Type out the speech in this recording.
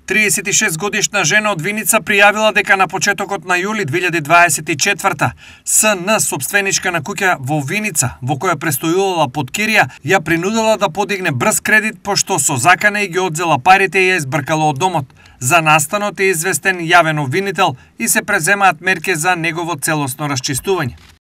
36-годишна жена од Виница пријавила дека на почетокот на јули 2024 СН, собственичка на куќа во Виница, во која престојувала под кирија, ја принудила да подигне брз кредит, пошто со закана и ги одзела парите и ја избркала од домот. За настанот е известен јавен обвинител и се преземаат мерки за негово целосно расчистување.